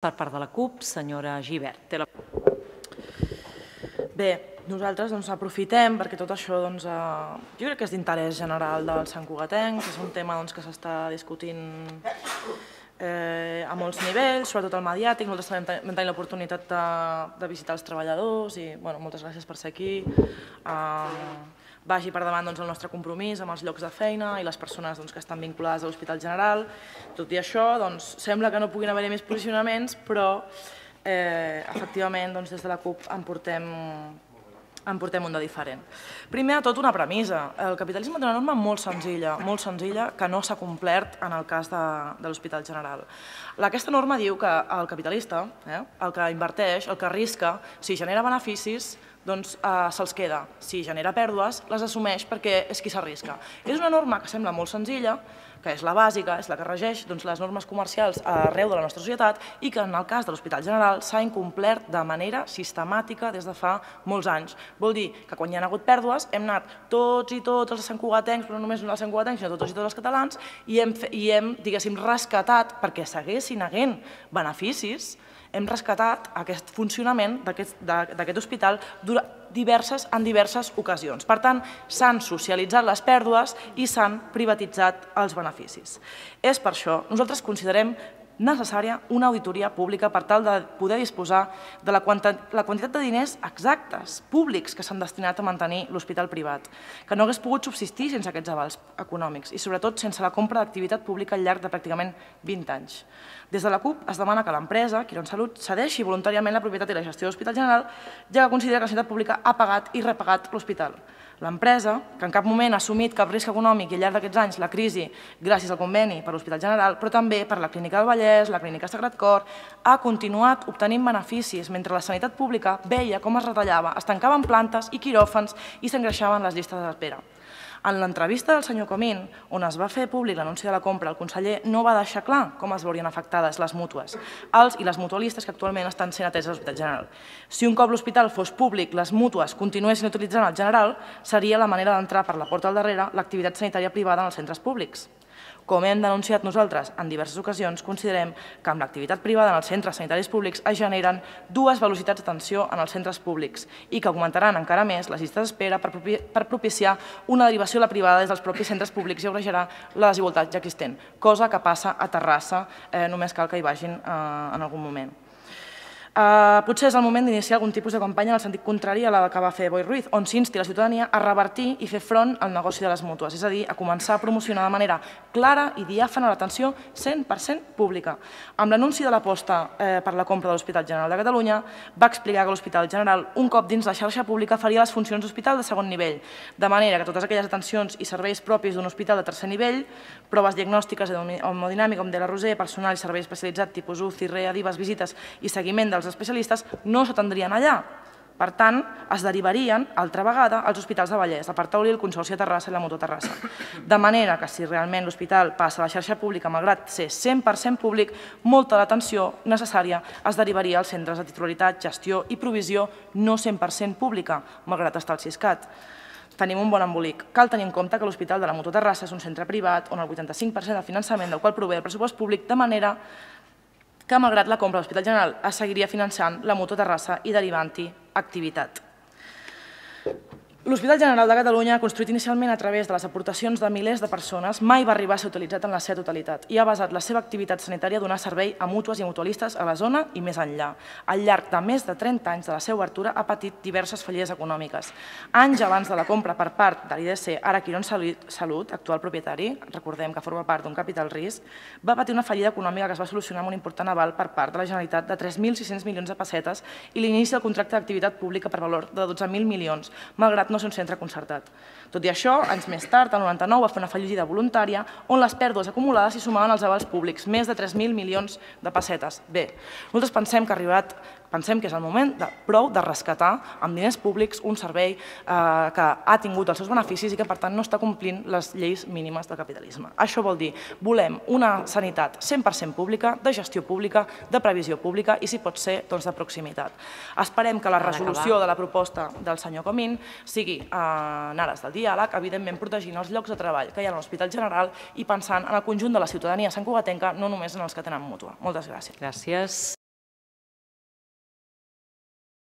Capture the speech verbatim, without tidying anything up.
Per part de la CUP, senyora Gibert. Bé, nosaltres aprofitem perquè tot això jo crec que és d'interès general dels santcugatencs, és un tema que s'està discutint a molts nivells, sobretot el mediàtic. Nosaltres també vam tenir l'oportunitat de visitar els treballadors i moltes gràcies per ser aquí. Vagi per davant el nostre compromís amb els llocs de feina i les persones que estan vinculades a l'Hospital General. Tot i això, sembla que no puguin haver-hi més posicionaments, però efectivament des de la CUP en portem en portem un de diferent. Primer de tot, una premissa. El capitalisme té una norma molt senzilla, molt senzilla, que no s'ha complert en el cas de l'Hospital General. Aquesta norma diu que el capitalista, el que inverteix, el que arrisca, si genera beneficis, doncs se'ls queda. Si genera pèrdues, les assumeix perquè és qui s'arrisca. És una norma que sembla molt senzilla, que és la bàsica, és la que regeix les normes comercials arreu de la nostra societat i que en el cas de l'Hospital General s'ha incomplert de manera sistemàtica des de fa molts anys. Vol dir que quan hi ha hagut pèrdues hem anat tots i tots els santcugatencs, però no només els santcugatencs, sinó tots i tots els catalans, i hem, diguéssim, rescatat, perquè seguessin havent beneficis, hem rescatat aquest funcionament d'aquest hospital en diverses ocasions. Per tant, s'han socialitzat les pèrdues i s'han privatitzat els beneficis. És per això que nosaltres considerem necessària una auditoria pública per tal de poder disposar de la quantitat de diners exactes, públics, que s'han destinat a mantenir l'hospital privat, que no hagués pogut subsistir sense aquests avals econòmics i, sobretot, sense la compra d'activitat pública al llarg de pràcticament vint anys. Des de la CUP es demana que l'empresa, Quirónsalud, cedeixi voluntàriament la propietat i la gestió de l'Hospital General, ja que considera que la sanitat pública ha pagat i repagat l'hospital. L'empresa, que en cap moment ha assumit cap risc econòmic i al llarg d'aquests anys la crisi gràcies al conveni per l'Hospital General, però també per la Clínica del Vallès, la Clínica Sagrat Cor, ha continuat obtenint beneficis mentre la sanitat pública veia com es retallava, es tancaven plantes i quiròfans i s'engreixaven les llistes d'espera. En l'entrevista del senyor Comín, on es va fer públic l'anunci de la compra, el conseller no va deixar clar com es veurien afectades les mútues, els i les mutualistes que actualment estan sent ateses a l'Hospital General. Si un cop l'hospital fos públic, les mútues continuessin utilitzant el General, seria la manera d'entrar per la porta al darrere l'activitat sanitària privada en els centres públics. Com hem denunciat nosaltres en diverses ocasions, considerem que amb l'activitat privada en els centres sanitaris públics es generen dues velocitats d'atenció en els centres públics i que augmentaran encara més les llistes d'espera per propiciar una derivació a la privada des dels propis centres públics i agreujarà la desigualtat ja existent, cosa que passa a Terrassa, només cal que hi vagin en algun moment. Potser és el moment d'iniciar algun tipus de campanya en el sentit contrari a la que va fer Boi Ruiz, on s'insti la ciutadania a revertir i fer front al negoci de les mútues, és a dir, a començar a promocionar de manera clara i diàfana l'atenció cent per cent pública. Amb l'anunci de l'aposta per la compra de l'Hospital General de Catalunya, va explicar que l'Hospital General, un cop dins la xarxa pública, faria les funcions d'hospital de segon nivell, de manera que totes aquelles atencions i serveis propis d'un hospital de tercer nivell, proves diagnòstiques hemodinàmica, com de la Roser, personal i servei especialitzat tipus U C I, R E A, dives, visites i seguiment dels especialistes no s'atendrien allà. Per tant, es derivarien, altra vegada, als hospitals de Vallès, el Parc Taulí, el Consorci de Terrassa i la Mutua Terrassa. De manera que si realment l'hospital passa a la xarxa pública, malgrat ser cent per cent públic, molta de l'atenció necessària es derivaria als centres de titularitat, gestió i provisió no cent per cent pública, malgrat estar al Siscat. Tenim un bon embolic. Cal tenir en compte que l'Hospital de la Mutua Terrassa és un centre privat on el vuitanta-cinc per cent del finançament del qual prové el pressupost públic, de manera que, malgrat la compra de l'Hospital General, es seguiria finançant la Mutua Terrassa i derivant-hi activitat. L'Hospital General de Catalunya, construït inicialment a través de les aportacions de milers de persones, mai va arribar a ser utilitzat en la seva totalitat i ha basat la seva activitat sanitària a donar servei a mútues i mutualistes a la zona i més enllà. Al llarg de més de trenta anys de la seva obertura ha patit diverses fallides econòmiques. Anys abans de la compra per part de l'I D C, ara Quirónsalud, actual propietari, recordem que forma part d'un capital risc, va patir una fallida econòmica que es va solucionar amb un important aval per part de la Generalitat de tres mil sis-cents milions de pessetes i l'inici del contracte d'activitat pública per valor de dotze mil milions, malgrat no ser un centre concertat. Tot i això, anys més tard, el noranta-nou, va fer una fallida voluntària on les pèrdues acumulades s'hi sumaven als avals públics, més de tres mil milions de pessetes. Bé, nosaltres pensem que ha arribat Pensem que és el moment prou de rescatar amb diners públics un servei que ha tingut els seus beneficis i que, per tant, no està complint les lleis mínimes del capitalisme. Això vol dir, volem una sanitat cent per cent pública, de gestió pública, de previsió pública i, si pot ser, de proximitat. Esperem que la resolució de la proposta del senyor Comín sigui en ares del diàleg, evidentment protegint els llocs de treball que hi ha a l'Hospital General i pensant en el conjunt de la ciutadania santcugatenca, no només en els que tenen mútua. Moltes gràcies. Gràcies.